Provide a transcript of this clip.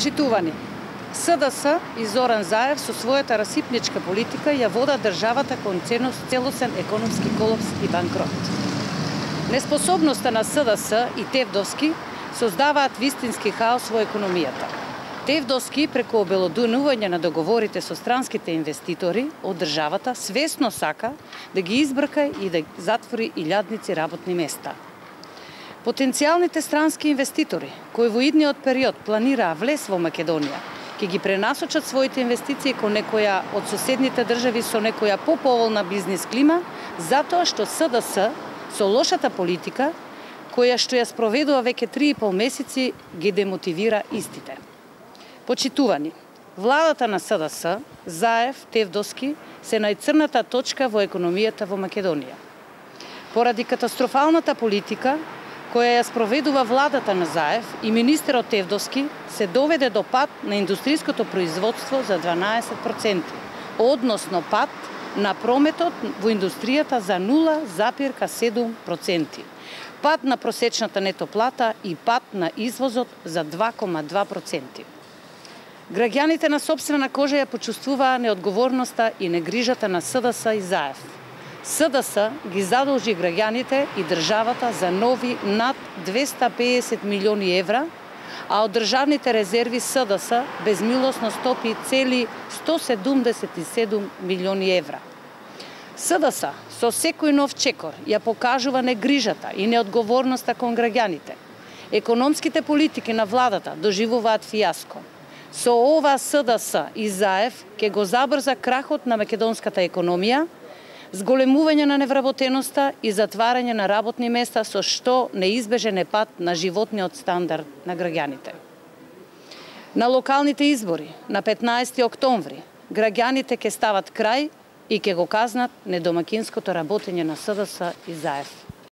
Почитувани, СДС и Зоран Заев со својата расипничка политика ја водат државата кон целосен економски колапс и банкрот. Неспособноста на СДС и Тевдовски создаваат вистински хаос во економијата. Тевдовски преку обелоденување на договорите со странските инвеститори од државата свесно сака да ги избрка и да затвори илјадници работни места. Потенцијалните странски инвеститори, кои во идниот период планираа влез во Македонија, ќе ги пренасочат своите инвестиции кон некоја од соседните држави со некоја поповолна бизнис клима, затоа што СДС со лошата политика, која што ја спроведува веќе 3,5 месеци, ги демотивира истите. Почитувани, владата на СДС, Заев, Тевдовски се најцрната точка во економијата во Македонија. Поради катастрофалната политика, која ја спроведува владата на Заев и министерот Тевдовски, се доведе до пад на индустриското производство за 12%, односно пад на прометот во индустријата за 0,7%, пад на просечната нето плата и пад на извозот за 2,2%. Граѓаните на сопствена кожа ја почувствуваа неодговорноста и негрижата на СДС и Заев. СДС ги задолжи граѓаните и државата за нови над 250 милиони евра, а од државните резерви СДС безмилосно стопи цели 177 милиони евра. СДС со секој нов чекор ја покажува негрижата и неодговорноста кон граѓаните. Економските политики на владата доживуваат фијаско. Со ова СДС и Заев ќе го забрза крахот на македонската економија, зголемување на невработеноста и затварање на работни места, со што неизбежен е пат на животниот стандард на граѓаните. На локалните избори на 15 октомври граѓаните ќе стават крај и ќе го казнат недомакинското работење на СДС и Заев.